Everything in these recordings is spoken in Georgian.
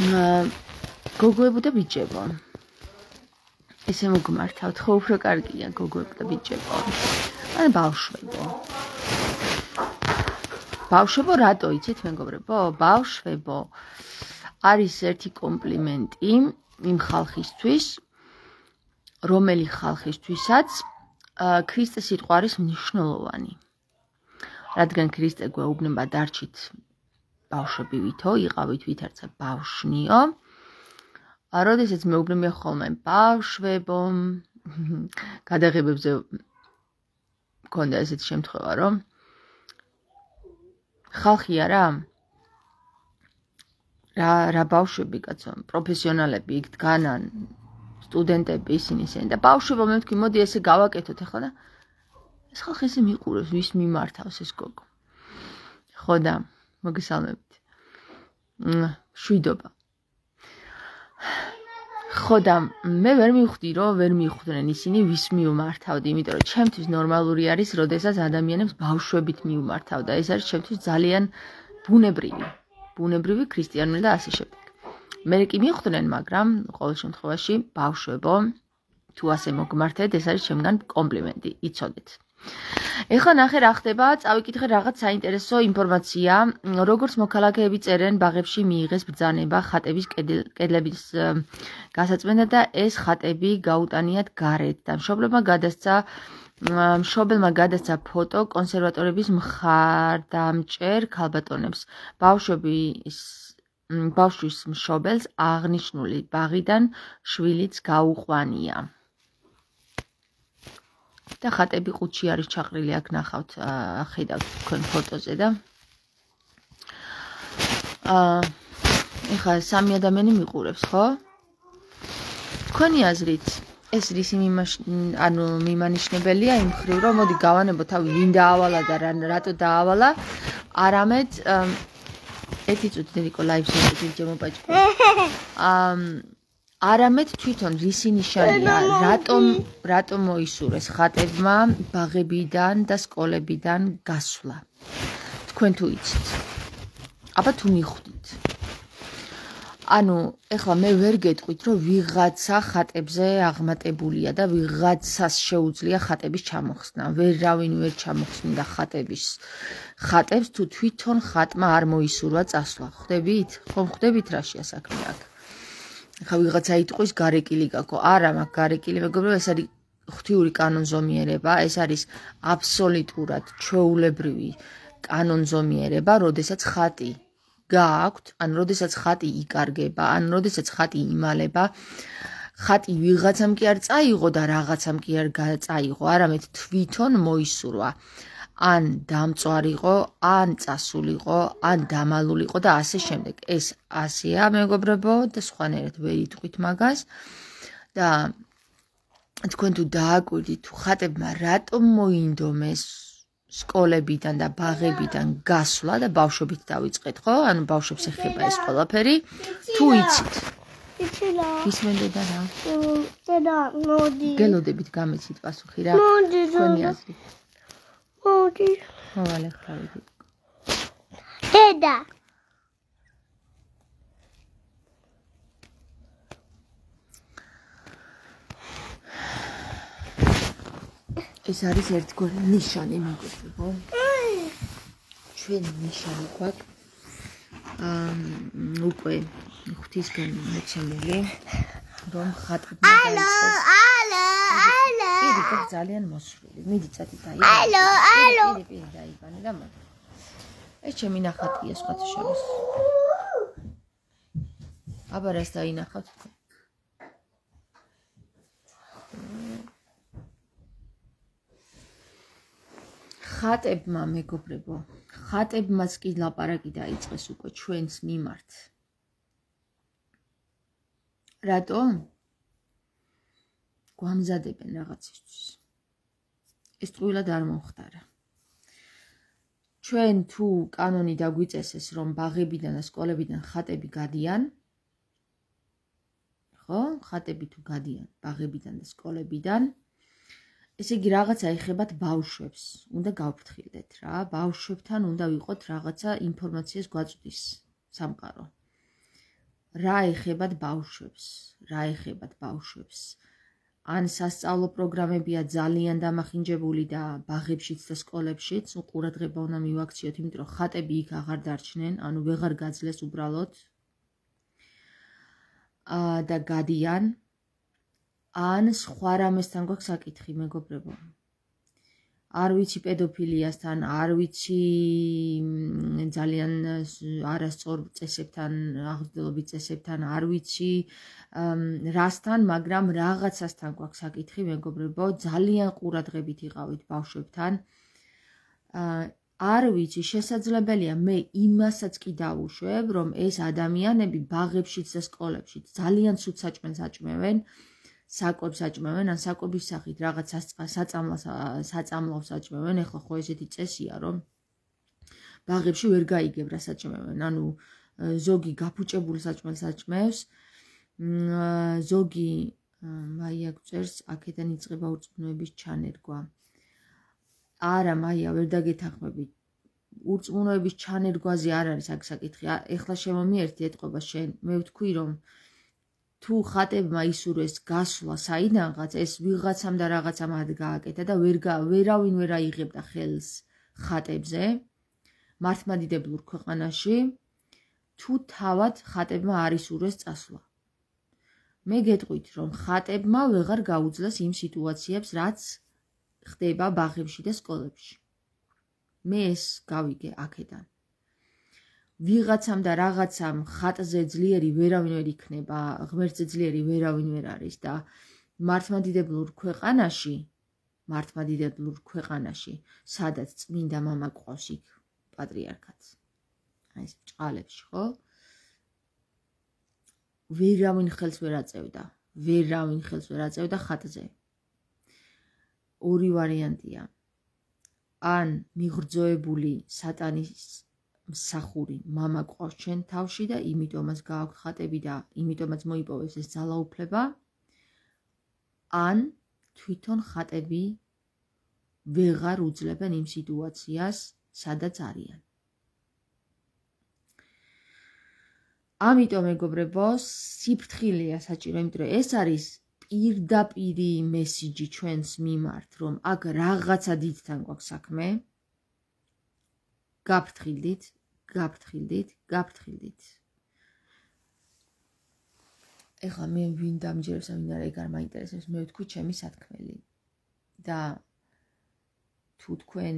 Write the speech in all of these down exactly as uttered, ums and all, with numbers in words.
გოგოებო და ბიჭებო. ესე მოგმართავთ, ხო უფრო კარგია გოგოებო და ბიჭებო. ან ბავშვებო. ბავშვებო რატო იცით მეგობრებო? ბავშვებო არის ერთი კომპლიმენტი იმ ხალხისთვის, რომელი ხალხისთვისაც ქრისტეს სიტყვა არის მნიშვნელოვანი. რადგან ქრისტე გვეუბნება დარჩით ბავშვები ვითო, იყავით ვითარცა ბავშნიო. როდესაც მეუბნებია ხოლმე ბავშვებო, გადაღებებზე მქონდა ესეთი შემთხვევა, რომ ხალხი არა რა რა ბავშვები კაცო, პროფესიონალები იქ დგანან, სტუდენტები ისინი ისინი და ბავშვებო მე ვთქვი, მოდი ესე გავაკეთოთ ახლა და ეს ხალხი ესე მიყურებს, ვის მიმართავს ეს გოგო. ხო და მოგესალმებით. შვიდობა. ხო და მე ვერ მივხვდი, რომ ვერ მიხვდნენ ისინი ვის მიუმართავდი, იმიტომ რომ ჩემთვის ნორმალური არის, როდესაც ადამიანებს ბავშვებით მიუმართავდა. ეს არის ჩემთვის ძალიან ბუნებრივი, ბუნებრივი ქრისტიანული და ასე შემდეგ. მე კი მიხვდნენ, მაგრამ ყოველ შემთხვევაში ბავშვებო, თუ ასე მოგმართეთ, ეს არის ჩემგან კომპლიმენტი, იცოდეთ. ეხლა ნახე რა ხდება, წავიკითხე რაღაც საინტერესო ინფორმაცია, როგორც მოქალაქეები წერენ ბაღებში მიიღეს ბრძანება ხატების კედლების გასაწმენდა და ეს ხატები გაუტანიათ გარეთ და მშობლებმა გადასცა მშობელმა გადასცა ფოტო კონსერვატორების მხარდამჭერ ქალბატონებს. ბავშვების ბავშვის მშობელს აღნიშნული ბაღიდან შვილიც გაუყვანია. და ხატები ყუთში არის ჩაყრილი, აქ ნახავთ, ხედავთ თქვენ ფოტოზე და აა ეხლა სამი ადამიანი მიყურებს, ხო? თქვენი აზრით ეს რისი ანუ მიმანიშნებელია იმ ხრივ, რომ მოდი გავანებო თავი ვინ დაავალა და რატო დაავალა, არამედ ერთი წუთი დედიკო ლაივზე ვიჯემო პაჭკო. აა არამედ თვითონ რისი ნიშანია, რატომ რატომ მოისურვეს ხატებმა ბაღებიდან და სკოლებიდან გასვლა. თქვენ თუ იცით. აბა თუ მიხვდით. ანუ ეხლა მე ვერ გეტყვით, რომ ვიღაცა ხატებზე აღმატებულია და ვიღაცას შეუძლია ხატების ჩამოხსნა. ვერავინ ვერ ჩამოხსნიდა ხატების ხატებს თუ თვითონ ხატმა არ მოისურვა წასვლა. ხვდებით? ხომ ხვდებით რაშია საქმე აქ? ხა ვიღაცა იტყვის გარეკილი გაქო. არა, მაგ გარეკილი მეგობრებო, ეს არის ღვთიური კანონზომიერება, ეს არის აბსოლუტურად ჩვეულებრივი კანონზომიერება, როდესაც ხატი გააქვთ, ან როდესაც ხატი იკარგება, ან როდესაც ხატი იმალება, ხატი ვიღაცამ კი არ წაიღო და რაღაცამ კი არ წაიღო, არამედ თვითონ მოისურვა. ან დამწვარიყო, ან წასულიყო, ან დამალულიყო და ასე შემდეგ. ეს ასეა მეგობრებო და სხვანაირად ვერ იტყვით მაგას. და თქვენ თუ დააკვირდით, თუ ხატებმა რატომ მოინდომეს სკოლებიდან და ბაღებიდან გასვლა და ბავშვებით დავიწყეთ, ხო? ანუ ბავშვებს ეხება ეს ყველაფერი. თუ იცით. ისმენდა რა? და მოდი. გელოდებით გამეცით პასუხი რა? თქვენი აზრით. მოდი. მოვალე ხარ. დედა. ეს არის ერთგვარი ნიშანი მეგობრებო. ჩვენ ნიშანი გვაქვს აა უკვე ღვთისგან მოცემული, რომ ხატებმა დაიწყეს. ალო, ალო. იგი გქ ძალიან მოსვლილი. მიდი წათი დაიბანე. ალო, ალო. იგი პირი დაიბანე და მოდი. ეს ჩემი ნახატია სხვათა შორის. აბა რას დაინახავთ? ხატებმა მეგობრებო, ხატებმაც კი ლაპარაკი დაიწყეს უკვე ჩვენს მიმართ. რატო? გვამზადებენ რაღაცისთვის. ეს ტყუილად არ მომხდარა. ჩვენ თუ კანონი დაგვიწესეს, რომ ბაღებიდან და სკოლებიდან ხატები გადიან, ხო? ხატები თუ გადიან ბაღებიდან და სკოლებიდან, ესე იგი რაღაცა ეხებათ ბავშვებს, უნდა გავფრთხილდეთ რა, ბავშვებთან უნდა ვიყოთ რაღაცა ინფორმაციას გვაწვდის სამყარო. რა ეხებათ ბავშვებს, რა ეხებათ ბავშვებს. ან სასწავლო პროგრამებია ძალიან დამახინჯებული და ბაღებშიც და სკოლებშიც, ყურადღება უნდა მივაქციოთ, იმიტომ რომ ხატები იქ აღარ დარჩნენ, ანუ ვეღარ გაძლეს უბრალოდ და გადიან. ან სხვა რამესთან გვაქვს საკითხი, მეგობრებო. არ ვიცი პედოფილიასთან, არ ვიცი ძალიან არასწორ წესებთან, აღზრდელობით წესებთან, არ ვიცი რასთან, მაგრამ რაღაცასთან გვაქვს საკითხი, მეგობრებო, ძალიან ყურადღებით იყავით ბავშვებთან. არ ვიცი, შესაძლებელია მე იმასაც კი დავუშვებ, რომ ეს ადამიანები ბაღებშიც და სკოლებშიც ძალიან ცუდ საჭმელს აჭმევენ. საკვებს აჭმევენ, ან საკვების სახით რაღაც საწამლავს აჭმევენ, ეხლა ხო ესეთი წესია, რომ ბაღებში ვერ გაიგებ რა საჭმევენ, ანუ ზოგი გაფუჭებულ საჭმელს აჭმევს, ზოგი მაია გწერს, აქედან იწყება ურწმუნოების ჩანერგვა. არა, მაია, ვერ დაგეთანხმებით. ურწმუნოების ჩანერგვაზე არ არის აქ საკითხი. ეხლა შემომიერთი ეთყობა შენ, მე ვთქვი, რომ თუ ხატებმა ისურვეს გასვლა საიდანღაც, ეს ვიღაცამ და რაღაცამ არ გააკეთა და ვერავინ ვერ აიღებდა ხელს ხატებზე მართლმადიდებლურ ქვეყანაში, თუ თავად ხატებმა არ ისურვეს წასვლა. მე გეტყვით, რომ ხატებმა ვეღარ გაუძლეს იმ სიტუაციებს, რაც ხდება ბაღებში და სკოლებში. მე ეს გავიგე აქედან. ვიღაცამ და რაღაცამ ხატზე ძლიერი ვერავინ ვერ იქნება, ღმერთზე ძლიერი ვერავინ ვერ არის და მართლმადიდებლურ ქვეყანაში, მართლმადიდებლურ ქვეყანაში, სადაც წმინდა მამა ყავს იქ პატრიარქატს. აი ეს ჭყალებში, ხო? ვერავინ ხელს ვერ აწევდა, ვერავინ ხელს ვერ აწევდა ხატზე. ორი ვარიანტია. ან მიღრძოებული სატანის მსახური მამა ყავს ჩვენ თავში და იმიტომაც გააქვთ ხატები და იმიტომაც მოიპოვეს ეს ძალაუფლება, ან თვითონ ხატები ვეღარ უძლებენ იმ სიტუაციას, სადაც არიან. ამიტომ მეგობრებო, სიფრთხილეა საჭირო, იმიტომ რომ ეს არის პირდაპირი მესიჯი ჩვენს მიმართ, რომ აქ რაღაცა დიდთან გვაქვს საქმე. გაფრთხილდით, გაფრთხილდით, გაფრთხილდით. ეხლა მე ვინ დამჯერებს, ვინ არა, ეგ არ მაინტერესებს, მე ვთქვი ჩემი სათქმელი. და თუ თქვენ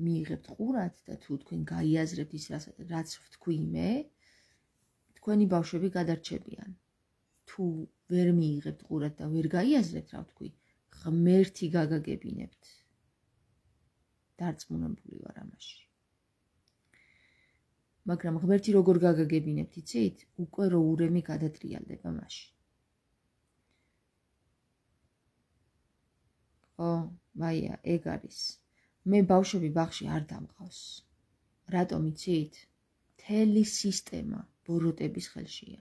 მიიღებთ ყურად და თუ თქვენ გაიაზრებთ ის, რაც ვთქვი მე, თქვენი ბავშვები გადარჩებიან. თუ ვერ მიიღებთ ყურად და ვერ გაიაზრებთ, რა ვთქვი, ღმერთი გაგაგებინებთ. დარწმუნებული ვარ ამაში. მაგრამ ღმერთი როგორ გაგაგებინებთ, იცით? უკვე რო ურემი გადატრიალდება მაშინ. ო, მაია, ეგ არის. მე ბავშვები ბაღში არ დამყავს. რატომ იცით? მთელი სისტემა ბოროტების ხელშია.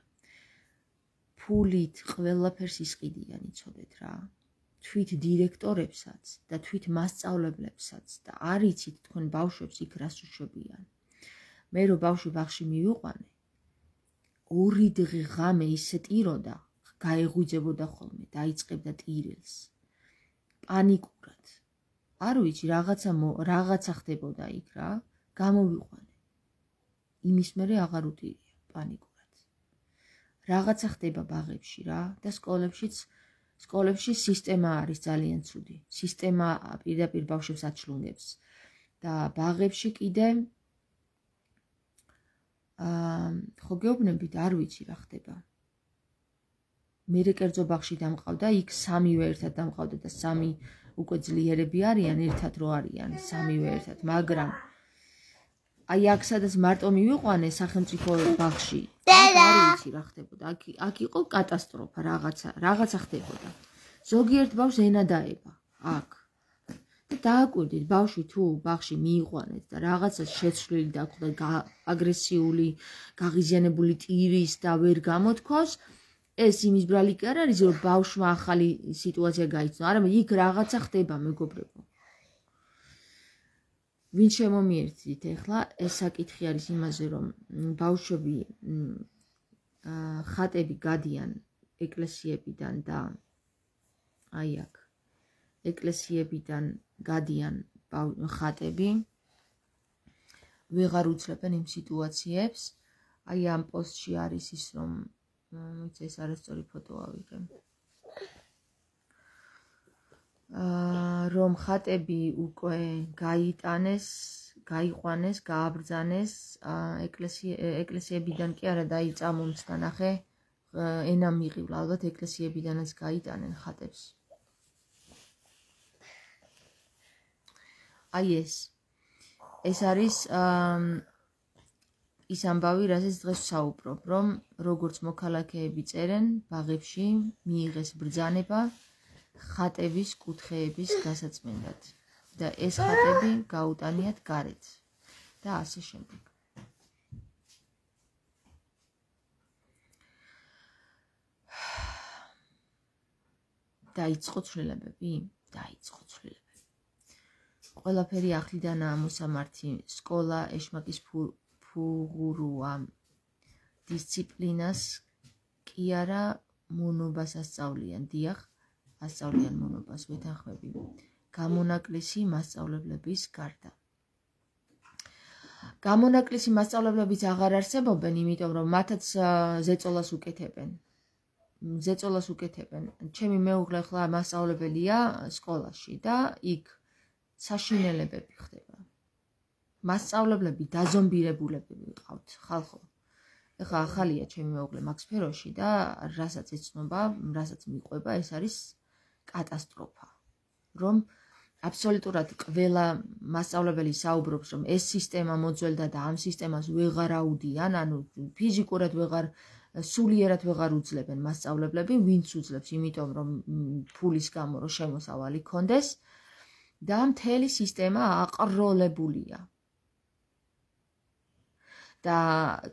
ფულით ყველაფერს ისყიდიან, იცოდეთ რა. თვით დირექტორებსაც და თვით მასწავლებლებსაც და არ იცით თქვენ ბავშვებს იქ რას უშვებიან. მე რო ბავშვი ბაღში მივიყვანე, ორი დღე ღამე ისე ტიროდა, გაეღვიძებოდა ხოლმე, დაიწყებდა ტირილს. პანიკურად. არ ვიცი, რაღაცა რაღაცა ხდებოდა იქ რა, გამოვიყვანე. იმის მერე აღარ უტირია, პანიკურად. რაღაცა ხდება ბაღებში რა და სკოლებშიც სკოლებში სისტემა არის ძალიან ცუდი. სისტემა პირდაპირ ბავშვებს აჩლუნგებს. და ბაღებში კიდე აა ხო გეუბნებით, არ ვიცი რა ხდება. მე კერძო ბაღში დამყავდა, იქ სამივე ერთად დამყავდა და სამი უკვე ძლიერები არიან, ერთად რო არიან, სამივე ერთად, მაგრამ აი აქ სადაც მარტო მივიყვანე სახელმწიფო ბაღში, არ ვიცი რა ხდებოდა. აქ აქ იყო კატასტროფა, რაღაცა, რაღაცა ხდებოდა. ზოგიერთ ბავშვს ენა დაება აქ. და დააკვირდით, ბავშვი თუ ბაღში მიიყვანეთ და რაღაცა შეცვლილი დაგვდა, აგრესიული, გაღიზიანებული ტირის და ვერ გამოთქვას, ეს იმის ბრალი კი არ არის, რომ ბავშვმა ახალი სიტუაცია გაიცნო, არამედ იქ რაღაცა ხდება, მეგობრებო. ვინ შემომიერთდით ეხლა, ეს საკითხი არის იმაზე, რომ ბავშვები ხატები გადიან ეკლესიებიდან და აი აქ ეკლესიებიდან გადიან ხატები ვეღარ უძლებენ იმ სიტუაციებს აი ამ პოსტში არის ის რომ მოიცა ეს არასწორი ფოტო ავიღე რომ ხატები უკვე გაიტანეს გაიყვანეს გააბრძანეს ეკლესიებიდან კი არა და აი წამომცდა ნახე ენა მიყივლა ალბათ ეკლესიებიდანაც გაიტანენ ხატებს აი ეს ეს არის ის ამბავი რასაც დღეს ვსაუბრობ რომ როგორც მოქალაქეები წერენ ბაღებში მიიღეს ბრძანება ხატების კუთხეების გასაწმენდად და ეს ხატები გაუტანიათ გარეთ და ასე შემდეგ დაიწყო ცვლილებები დაიწყო ცვლილებები ყველაფერი ახლიდანაა მოსამართი სკოლა ეშმაკის ფუღუროა დისციპლინას კი არა მონობას ასწავლიან დიახ ასწავლიან მონობას ვეთანხმები გამონაკლისი მასწავლებლების გარდა გამონაკლისი მასწავლებლებიც აღარ არსებობენ იმიტომ რომ მათაც ზეწოლას უკეთებენ ზეწოლას უკეთებენ ჩემი მეუღლე ხლა მასწავლებელია სკოლაში და იქ საშინელებები ხდება მასწავლებლები დაზომბირებულები ვიყავთ ხალხო ეხლა ახალია ჩემი მეუღლე მაგ სფეროში და რასაც ეცნობა რასაც მიყვება ეს არის კატასტროფა რომ აბსოლუტურად ყველა მასწავლებელი საუბრობს რომ ეს სისტემა მოძველდა და ამ სისტემას ვეღარ აუდიან ანუ ფიზიკურად ვეღარ სულიერად ვეღარ უძლებენ მასწავლებლები ვინც უძლებს იმიტომ რომ ფულის გამო რომ შემოსავალი კონდეს და მთელი სისტემა აყროლებულია და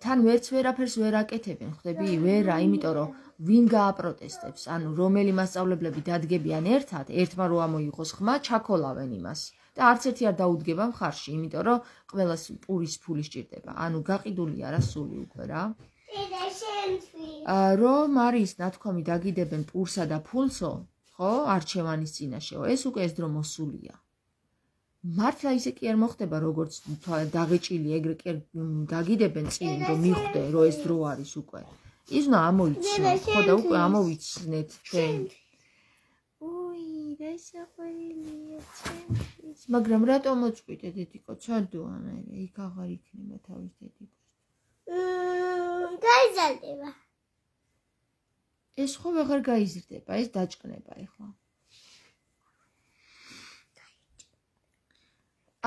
თან ვერც ვერაფერს ვერ აკეთებენ ხვდები ვერა იმიტომ რომ ვინ გააპროტესტებს ანუ რომელი მასწავლებლები დადგებიან ერთად ერთმა რო ამოიღოს ხმა ჩაქოლავენ იმას და არც ერთი არ დაუდგება მხარში იმიტომ რომ ყველას პურის ფული სჭირდება ანუ გაყიდულია რა სული უკვე რა რომ არის ნათქვამი დაგიდებენ პურსა და ფულსო ხო არჩევანის წინაშეო ეს უკვე ეს დრო მოსულია მართლა ისე კი არ მოხდება როგორც დაღეჭილი ეგრე კი დაგიდებენ წინ რომ მიხვდე რომ ეს დრო არის უკვე ის უნდა ამოიცნო ხო და უკვე ამოვიცნეთ ჩვენ ოი რა საყვარელია ჩემთვის მაგრამ რატომ მოწყვიტე დედიკო ცოდოა მე იქ აღარ იქნება თავის დედიკოს გაიზარდება ეს ხო ვეღარ გაიზრდება ეს დაჭკნება ეხლა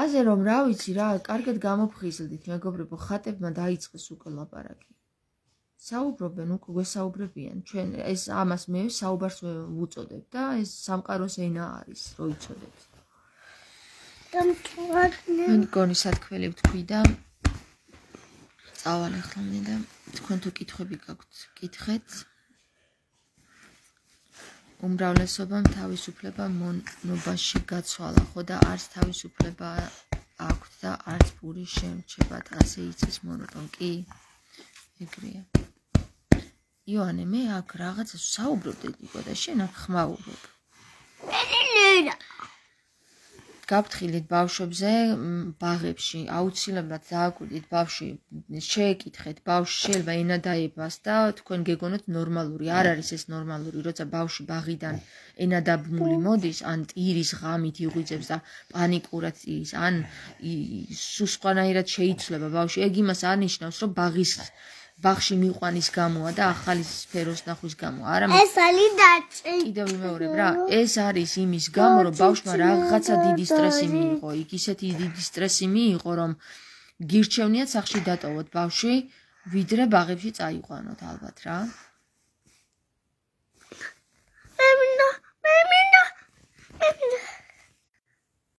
ასე რომ რა ვიცი რა კარგად გამოფხიზლდით მეგობრებო ხატებმა დაიწყეს უკვე ლაპარაკი საუბრობენ უკვე გვესაუბრებიან ჩვენ ეს ამას მე საუბარს ვუწოდებ და ეს სამყაროს ენა არის რო იცოდეთ მე მგონი სათქმელი ვთქვი და წავალ ახლა მე და თქვენ თუ კითხვები გაქვთ კითხეთ უმრავლესობამ თავისუფლება მონობაში გაცვალა ხო და არც თავისუფლება აქვთ და არც პური შემრჩებათ ასე იცის მონოტონ კი ეგრეა იოანე მე აქ რაღაცას ვსაუბრობ დედიკო და შენ აქ ხმაურობ გაფრთხილეთ ბავშვებზე ბაღებში აუცილებლად დააკვირდით ბავშვი შეეკითხეთ ბავშვი შეიძლება ენა დაებას და თქვენ გეგონოთ ნორმალური არ არის ეს ნორმალური როცა ბავშვი ბაღიდან ენა დაბმული მოდის ან ტირის ღამით იღვიძებს და პანიკურად ის ან სულ სხვანაირად შეიცვლება ბავშვი ეგ იმას არნიშნავს რომ ბაღის ბაღში მიყვანის გამოა და ახალი სფეროს ნახვის გამო არა ეს არის დაჭი კიდევ ვიმეორებ რა ეს არის იმის გამო რომ ბავშვმა რაღაცა დიდი სტრესი მიიღო იქ ისეთი დიდი სტრესი მიიღო რომ გირჩევნიათ სახში დატოვოთ ბავშვი ვიდრე ბაღებში წაიყვანოთ ალბათ რა